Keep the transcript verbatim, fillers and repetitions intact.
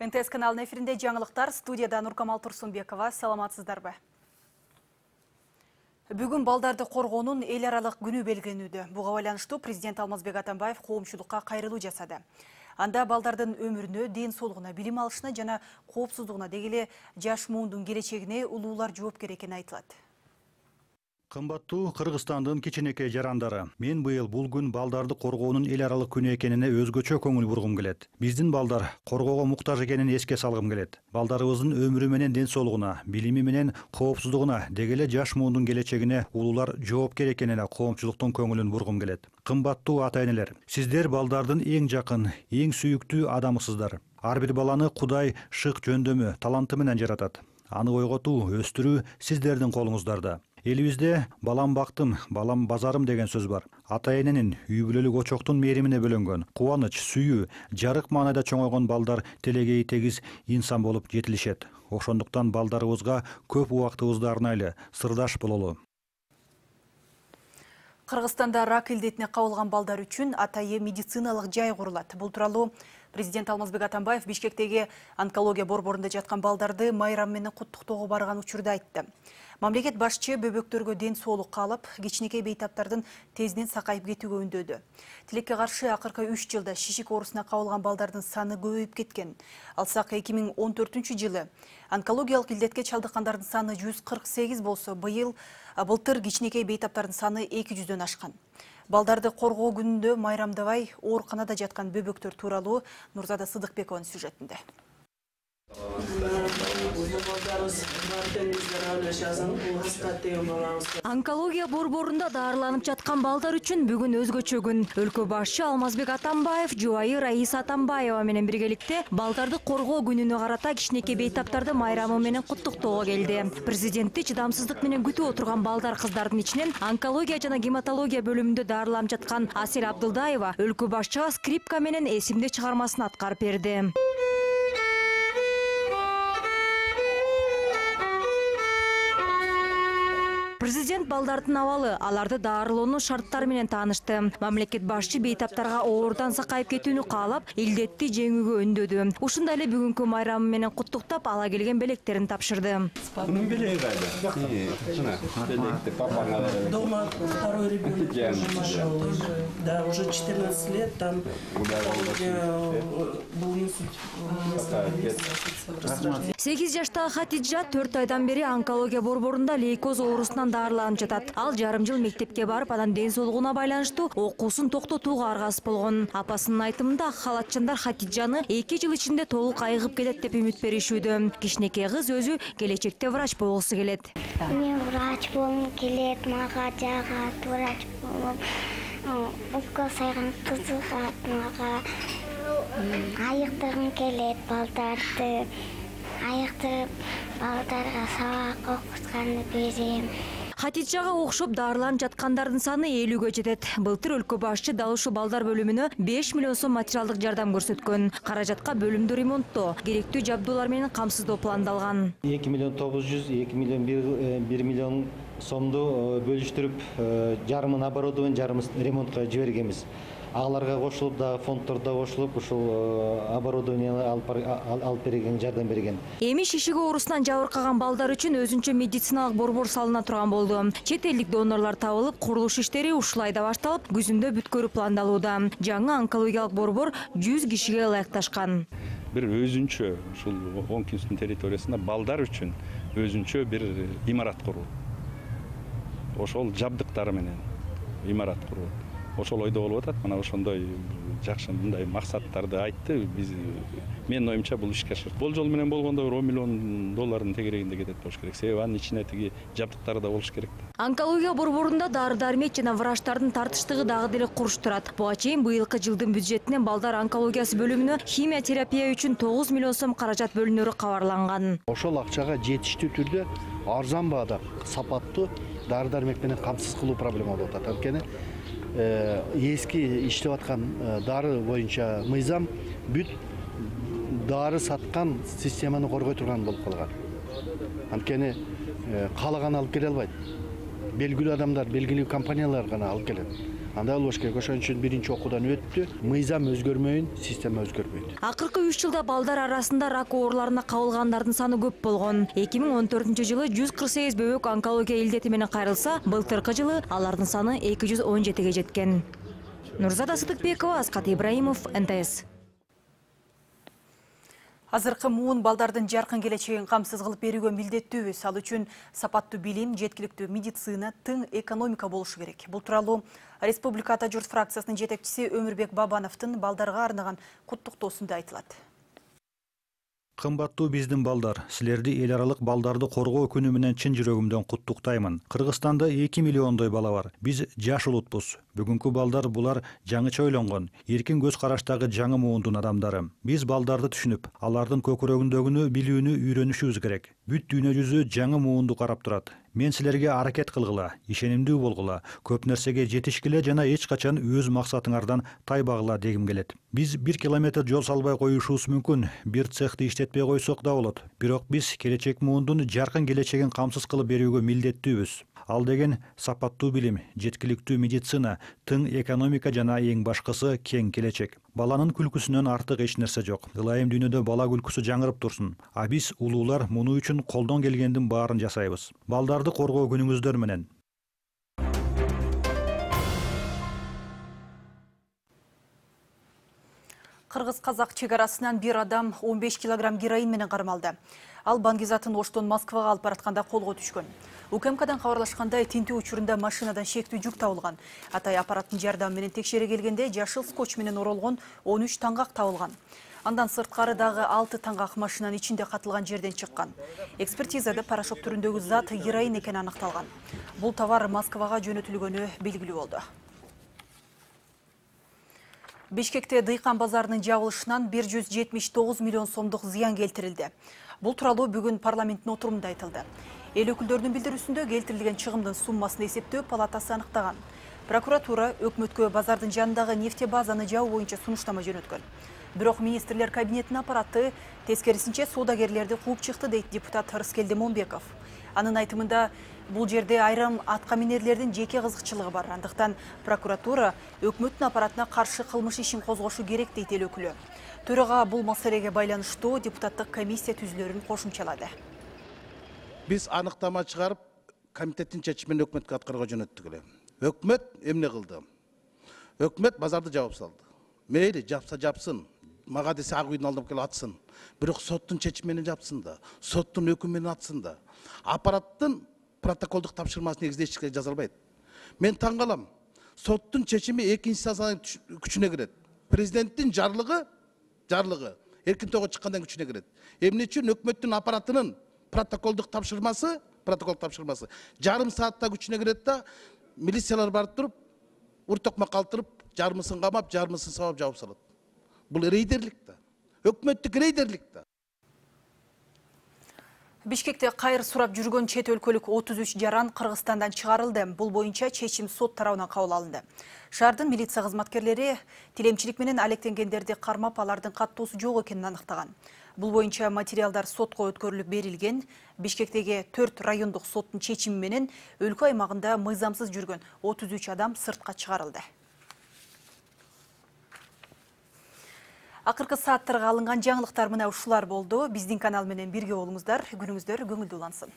эн тэ эс каналынын эфиринде жаңылыктар, студияда Нуркамал Турсунбекова. Саламатсыздарбы? Бүгүн балдарды коргоонун эл аралык күнү белгиленүүдө. Буга байланыштуу президент Алмазбек Атамбаев коомчулукка кайрылуу жасады. Анда балдардын өмүрүнө, ден соолугуна, билим алышына жана коопсуздугуна, деги эле жаш муундун келечегине улуулар жоопкер экени айтылат. Кымбаттуу Кыргызстандын кичинекей жарандары, мен быйыл бул күн балдарды коргоонун эл аралык күнү экенине өзгөчө көңүл бургум келет. Биздин балдар коргоого муктаж экенин эске салгым келет. Балдарыбыздын өмүрү менен ден соолугуна, билими менен коопсуздугуна, деги эле жаш муундун келечегине улуулар жоопкер экенине коомчулуктун көңүлүн бургум келет. Кымбаттуу ата-энелер, сиздер балдардын эң жакын, эң сүйүктүү адамысыздар. Ар бир баланы Кудай шык жөндөмү, таланты менен жаратат. Аны ойготуу, өстүрүү сиздердин колуңуздарда. Элибизде балам бактым, балам базарым деген сөз бар. Ата-эненин, үй бүлөлүк очоктун мээримине бөлөнгөн, кубаныч, сүйүү, жарык маанайда чоңойгон балдар телегей тегиз инсан болуп жетилишет. Ошондуктан балдарыбызга көп убактыбызды арнайлы, сырдаш бололу. Кыргызстанда рак илдетине кабылган балдар үчүн атайы медициналык жай курулат. Бул тууралуу президент Алмазбек Атамбаев Бишкектеги онкология борборунда жаткан балдарды майрам менен куттуктоого барган учурда айтты. Мамлекет башчы бөбөктөргө ден соолук каалап, кичинекей бейтаптардын тезинен сакайып кетүүгө үндөдү. Тилекке каршы акыркы үч жылда шишик оорусуна кабылган балдардын саны көбөйүп кеткен. Алсак эки миң он төртүнчү жылы онкологиялык илдетке чалдыккандардын саны жүз кырк сегиз болсо, быйыл былтыр кичинекей бейтаптардын саны эки жүздөн ашкан. Балдарды коргоо күнүндө майрамдабай ооруканада жаткан бөбөктөр тууралуу Нурзада Сыдыкбекованын сюжетинде. Онкология борборунда даарыланып жаткан балдар үчүн бүгүн өзгөчө күн. Өлкө башчы Алмазбек Атамбаев жубайы Раиса Атамбаева менен биргеликте балдарды коргоо күнүнө карата кичинекей бейтаптарды майрамы менен куттуктоого келди. Президентти чыдамсыздык менен күтүп отурган балдар кыздардын ичинен онкология жана гематология бөлүмүндө даарыланып жаткан Асел Абдылдаева өлкө башчыга скрипка менен эсимдик чыгармасын аткарып берди. Президент балдардын абалы, аларды даарылоонун шарттары менен таанышты. Мамлекет башчы бейтаптарга оорудан сакайып кетүүнү каалап, илдетти жеңүүгө үндөдү. Ушундай эле бүгүнкү майрамы менен куттуктап, ала келген белектерин тапшырды. Bunun bileği galiba. Şuna, belekte papana. Дома второй ребенок, машалlah. Да, уже четырнадцать лет там был инсульт. сегиз жаштагы Хатиджа төрт айдан бери онкология борборунда лейкоз оорусунан даарыланып жатат. Ал жарым жыл мектепке барып, анан ден соолугуна байланыштуу окуусун токтотууга аргасыз болгон. Апасынын айтымында ак халатчандар Хатиджаны эки жыл ичинде толук айыгып келет деп үмүт беришүүдө. Кичинекей кыз өзү келечекте врач болгусу келет. Мен врач болгум келет, мага жагат врач болуп, укол сайган кызыгат мага. Айыктыргым келет балдарды. Айыктырып балдарга сабак окутканды берем. Хатиджага окшоп даарыланып жаткандардын саны элүүгө жетет. Былтыр өлкө башчы дал ушул балдар бөлүмүнө беш миллион сом материалдык жардам көрсөткөн. Каражатка бөлүмдү ремонттоо, керектүү жабдуулар менен камсыздоо пландалган. эки миллион тогуз жүз, эки миллион бир миллион сомду бөлүштүрүп, жарымын оборудование, жарымын ремонтко жибергенбиз. Аларга кошулуп да фонддордо кошулуп ушул оборудование алып берген, жардам берген. Эми шишик оорусунан жабыркаган балдар үчүн өзүнчө медициналык борбор салына турган болду. Чет элдик донорлор табылып, курулуш иштери ушул айда башталып, күзүндө бүткөрү пландалууда. Жаңы онкологиялык борбор жүз кишиге ылайыкташкан. Bir өзүнчө ушул Оңкүстүн территориясында балдар үчүн өзүнчө бир имарат куруу. Ошол жабдыктары менен имарат куруу. Ошол ойдо болуп атат. Мына ошондой жакшы мындай максаттарды айтты. Биз менин оюмча бул ишке ашат. Болжол менен болгондо он миллион доллардын тегерегинде кетет болуш керек. Себеби анын ичине тиги жабдыктары да болуш керек. Онкология борборунда дары-дармек жана врачтардын тартыштыгы дагы деле куруш турат. Буга чейин быйылкы жылдын бюджетинен балдар онкологиясы бөлүмүнө химия терапия үчүн тогуз миллион сом каражат бөлүнөрү кабарланган. Ошол акчага жетиштүү түрдө арзан баада сапаттуу дары-дармек менен камсыз кылуу проблема болуп атат. Анткени эски иштеп аткан дары боюнча мыйзам бүт дары саткан системаны коргой турган болуп калган. Анткени каалаган алып келе албайт. Белгилүү адамдар, белгилүү компаниялар гана алып келет. андай болбош керек. Ошон үчүн биринчи окуудан өттү. Мыйзам өзгөрмөйүн, система өзгөрбөйт. Акыркы үч жылда балдар арасында рак ооруларына кабылгандардын саны көп болгон. эки миң он төртүнчү жылы жүз кырк сегиз бөбөк онкология илдети менен кайрылса, былтыркы жылы алардын саны эки жүз он жетиге жеткен. Нурзада Сыдыкбекова, Аскат Ибраимов, эн тэ эс. Азыркы муун балдардын жаркын келечегин камсыз кылып берүүгө милдеттүүбүз. Ал үчүн сапаттуу билим, жеткиликтүү медицина, тың экономика болушу керек. Бул тууралуу Республика Ата журт фракциясынын жетекчиси Өмүрбек Бабановдун балдарга арнаган куттуктоосунда айтылат. Кымбаттуу биздин балдар, силерди эл аралык балдарды коргоо күнү менен чын жүрөгүмдөн куттуктаймын. Кыргызстанда эки миллиондой бала бар. Биз жаш улутпуз. Бүгүнкү балдар булар жаңыча ойлонгон, эркин көз караштагы жаңы муундун адамдары. Биз балдарды түшүнүп, алардын көкүрөгүндөгүнү билүүнү үйрөнүшүбүз керек. Бүт дүйнө жүзү жаңы муунду карап турат. Мен силерге аракет кылгыла, ишенимдүү болгула, көп нерсеге жетишкиле жана эч качан өз максатыңардан тайбагыла дегим келет. Биз бир километр жол салбай коюшубуз мүмкүн, бир цехти иштетпей койсок да болот. Бирок биз келечек муундун жаркын келечегин камсыз кылып берүүгө милдеттүүбүз. Ал деген сапаттуу билим, жеткиликтүү медицина, тың экономика жана эң башкысы кең келечек. Баланын күлкүсүнөн артык эч нерсе жок. Ылайым дүйнөдө бала күлкүсү жаңырып турсун. А биз улуулар муну үчүн колдон келгендин баарын жасайбыз. Балдарды коргоо күнүңүздөр менен. Кыргыз-казак чек арасынан бир адам он беш килограмм героин менен кармалды. Ал Бангизатын Оштон Москвага алып баратканда колго түшкөн. УКМКдан кабарлашкандай, тинтүү учурунда машинадан шектүү жүк табылган. Атай аппараттын жардамы менен текшере келгенде жашыл скотч менен оролгон он үч таңгак табылган. Андан сырткары дагы алты таңгак машинанын ичинде катылган жерден чыккан. Экспертизада порошок түрүндөгү зат героин экени аныкталган. Бул товар Москвага жөнөтүлгөнү белгилүү болду. Бишкекте дыйкан базарынын жабылышынан бир жүз жетимиш тогуз миллион сомдук зыян келтирилди. Бул тууралуу бүгүн парламенттин отурумунда айтылды. Эл өкүлдөрүнүн билдирүүсүндө келтирилген чыгымдын суммасын эсептөө палатасы аныктаган. Прокуратура өкмөткө базардын жанындагы нефтебазаны жабуу боюнча сунуштама жөнөткөн. Бирок министрлер кабинетинин аппараты тескерисинче соодагерлерди кууп чыкты, дейт депутат Рыскелди Момбеков. Анын айтымында бул жерде айрым атка минерлердин жеке кызыкчылыгы бар. Андыктан прокуратура өкмөттүн аппаратына каршы кылмыш ишин козгошу керек, дейт эл өкүлү. Төрага бул маселеге байланыштуу депутаттык комиссия түзүлөрүн кошумчалады. Биз аныктама чыгарып, комитеттин чечимин өкмөткө аткарууга жөнөттүк эле. Өкмөт эмне кылды? Өкмөт базарды жабып салды. Мейли жапса жапсын, мага десе ак үйдүн алдына келип атсын. Бирок соттун чечими менен жапсын да, соттун өкүмү менен атсын да. Аппараттын протоколдук тапшырмасы негизинде эч нерсе жаза албайт. Мен таң калам. Соттун чечими экинчи инстанциянын күчүнө кирет. Президенттин жарлыгы, жарлыгы эркин тоого чыккандан күчүнө кирет. Эмне үчүн өкмөттүн аппаратынын протоколдук тапшырмасы, протокол тапшырмасы жарым саатта күчүнө кирет да, милициялар барып туруп, уртокма калтырып, жарымысын камап, жарымысын сабап жабып салат. Бул рейдерлик да. Өкмөттүк рейдерлик да. Бишкекте кайыр сурап жүргөн чет өлкөлүк отуз үч жаран Кыргызстандан чыгарылды. Бул боюнча чечим сот тарабынан кабыл алынды. Шаардын милиция кызматкерлери тилемчилик менен алектенгендерди кармап, алардын каттоосу жок экенин аныктаган. Бул боюнча материалдар сотко өткөрүлүп берилген. Бишкектеги төрт райондук соттун чечими менен өлкө аймагында мыйзамсыз жүргөн отуз үч адам сыртка чыгарылды. Акыркы сааттарга алынган жаңылыктар мына ушулар болду. Биздин канал менен бирге болуңуздар. Күнүңүздөр көңүлдүү улансын.